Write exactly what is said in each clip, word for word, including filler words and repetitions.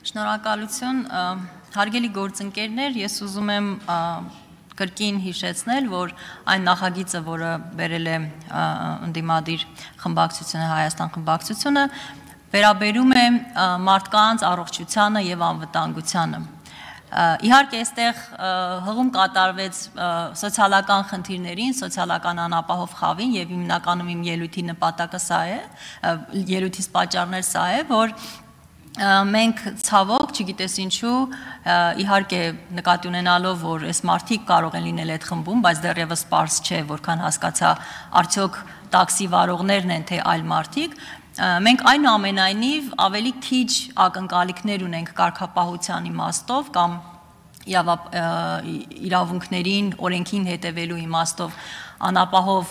Շնորհակալություն, հարգելի գործընկերներ, ես ուզում եմ կրկին հիշեցնել, որ այն նախագիծը, որը բերել է ընդդիմադիր խմբակցությունը, Հայաստան խմբակցությունը, վերաբերում է մարդկանց առողջությանը եւ անվտանգությանը։ Իհարկե, այստեղ հղում կատարվեց սոցիալական խնդիրներին, սոցիալական անապահով խավին եւ հիմնականում իմ ելույթի նպատակը սա է, ելույթից պատճառներ սա է, որ մենք ցավոք, չգիտես ինչու, իհարկե նկատի ունենալով, որ այս մարդիկ կարող են լինել այդ խմբում, բայց դեռևս պարզ չէ, որքան հասկացա, արդյոք տաքսի վարողներն են, թե այլ մարդիկ, մենք այնուամենայնիվ ավելի քիչ ակնկալիքներ ունենք կարգապահության իմաստով կամ իրավունքներին, օրենքին հետևելու իմաստով անապահով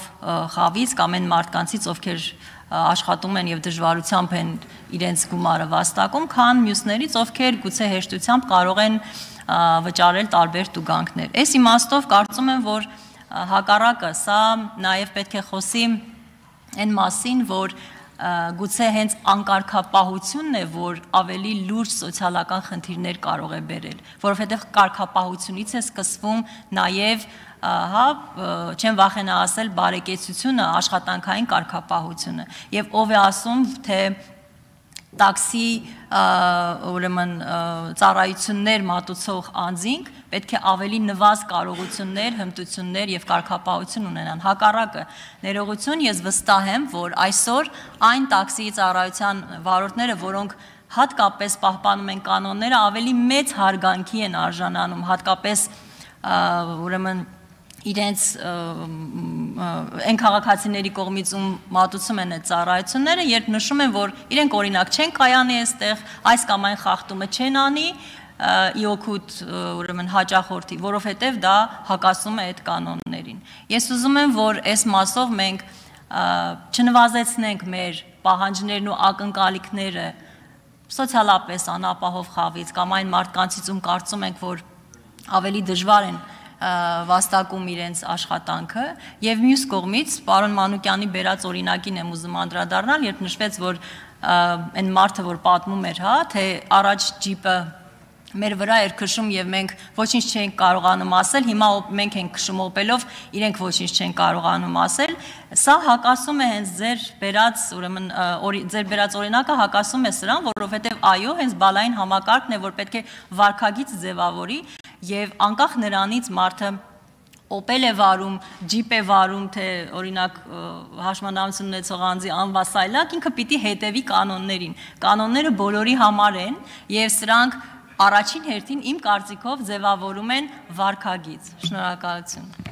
խավից կամ այն մարդկանցից, ովքեր աշխատում են եւ դժվարությամբ են իրենց գումարը վաստակում, քան մյուսներից, ովքեր գուցե հեշտությամբ կարող են վճարել տարբեր տուգանքներ։ Այս իմաստով կարծում եմ, որ հակառակը սա նաեւ պետք է խոսի այն մասին, որ գուցե հենց անկարգապահությունն է, որ ավելի լուրջ սոցիալական խնդիրներ կարող է բերել, որովհետև կարգապահությունից է սկսվում նաև, հա, չեմ վախենա ասել, բարեկեցությունը, աշխատանքային կարգապահությունը, եւ ով է ասում, թե տաքսի ուրեմն ծառայություններ մատուցող անձինք պետք է ավելի նվազ կարողություններ, հմտություններ եւ կարգապահություն ունենան։ Հակառակը, ներողություն, ես վստահ եմ, որ այսօր այն տաքսիի ծառայության վարորդները, որոնք հատկապես պահպանում են կանոնները, ավելի մեծ հարգանքի են արժանանում, հատկապես ուրեմն իրենց այն քաղաքացիների կողմից ում մատուցում են այդ ծառայությունները, երբ նշում են, որ իրենք օրինակ չեն կայանի այստեղ, այս կամ այն խախտումը չեն անի, ի օգուտ ուրեմն հաճախորդի, որովհետև դա հակասում է այդ կանոններին։ Ես ուզում եմ, որ այս մասով մենք չնվազեցնենք մեր պահանջներն ու ակնկալիքները սոցիալապես անապահով խավից կամ այն մարդկանցից, ում կարծում ենք, որ ավելի դժվար են վաստակում իրենց աշխատանքը եւ մյուս կողմից պարոն Մանուկյանի բերած օրինակին եմ ուզում անդրադառնալ, երբ նշվեց, որ այն մարդը, որ պատմում էր, հա, թե առաջ ջիպը մեր վրա էր քշում եւ մենք ոչինչ չենք կարողանում ասել, հիմա մենք ենք քշում օպելով, իրենք ոչինչ չեն կարողանում ասել, սա հակասում է հենց ձեր բերած, ուրեմն ձեր բերած օրինակը հակասում է սրան, որովհետեւ այո, հենց բալային համակարգն է, որ պետք է վարքագիծ ձևավորի եւ անկախ նրանից մարդը օպել է վարում, ջիպ է վարում, թե օրինակ հաշմանդամություն ունեցող անձի անվասայլակ, ինքը պիտի հետևի կանոններին։ Կանոնները բոլորի համար են եւ սրանք առաջին հերթին իմ կարծիքով ձևավորում են վարքագիծ։ Շնորհակալություն։